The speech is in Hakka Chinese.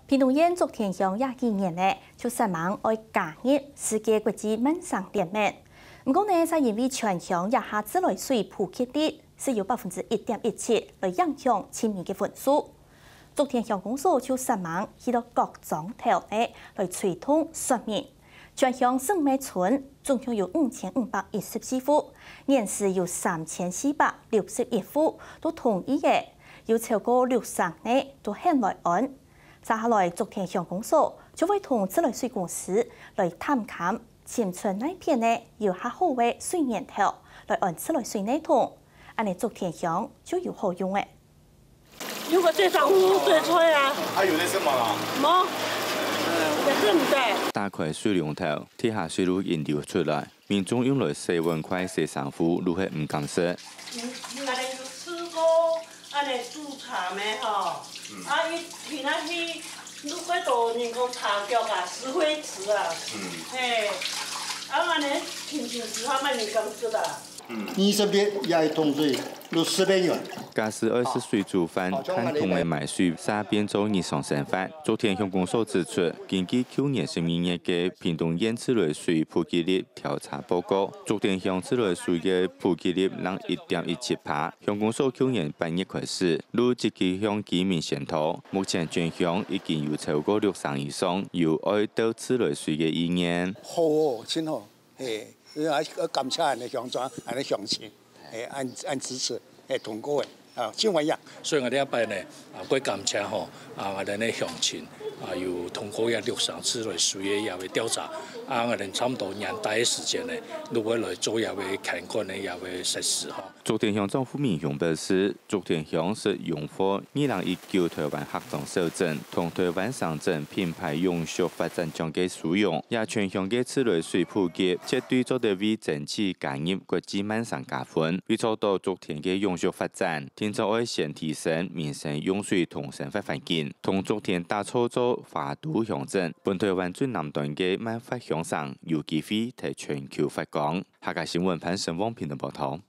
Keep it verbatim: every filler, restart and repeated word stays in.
屏東縣竹田鄉這幾年呢，就煞猛愛加入世界國際慢生聯盟。毋過呢，就因為全鄉這下自來水普及率只有百分之一點一七，來影響青年个分數。竹田鄉公所就煞猛去到各庄頭呢，來推動說明。全鄉十五个村，總共有五千五百一十四戶，現時有三千四百六十一戶都同意个，有超過六成呢都肯來安。 接下來，竹田鄉公所就會同自來水公司來探勘，尋出哪片呢有較好个水源頭，來安自來水系統，恁呢竹田鄉就有好用了。如果這上屋最脆啊，還有那什麼啦？無，也是毋得。打開水龍頭，地下水路引流出來，民眾用來洗碗筷、洗衫褲，都係毋敢食。你，你恁呢有試過 恁呢煮茶咩吼？啊，一平常去，如果多人講茶腳啊，石灰池啊，嘿，啊，恁呢平常時候慢慢感覺啊。二十日也係通水，六十个人。假使愛食水煮飯，看通个買水，煞變做日常生活。竹田鄉公所指出，根據舊年十二月个屏東縣自來水普及率調查報告，竹田鄉自來水个普及率正一點一七趴。 鄉公所舊年八月開始，就積極向居民宣導，目前全鄉已經有超過六成以上有愛鬥自來水个意願。好哦，真好，嘿，愛感謝恁呢鄉長，恁呢鄉親，嘿，恁，恁支持，嘿，通過个，啊，真歡迎。所以𠊎這擺呢，啊，過感謝吼，啊，𠊎等个鄉親，啊，有通過這六成自來水个這个調查，啊，𠊎等差毋多年底个時間呢，就會來做這个看管个這个設施吼。 竹田鄉長傅明雄表示，竹田鄉係榮獲二零一九台灣客庄小鎮同台灣省鎮品牌永續發展獎个殊榮，這全鄉个自來水普及，絕對做得為爭取加入國際慢生加分。為做到竹田个永續發展，定著愛先提升民生用水同生活環境，同竹田打造做花都鄉鎮，分台灣最南端个慢發鄉城有機會在全球發光。客家新聞潘成旺屏東報導。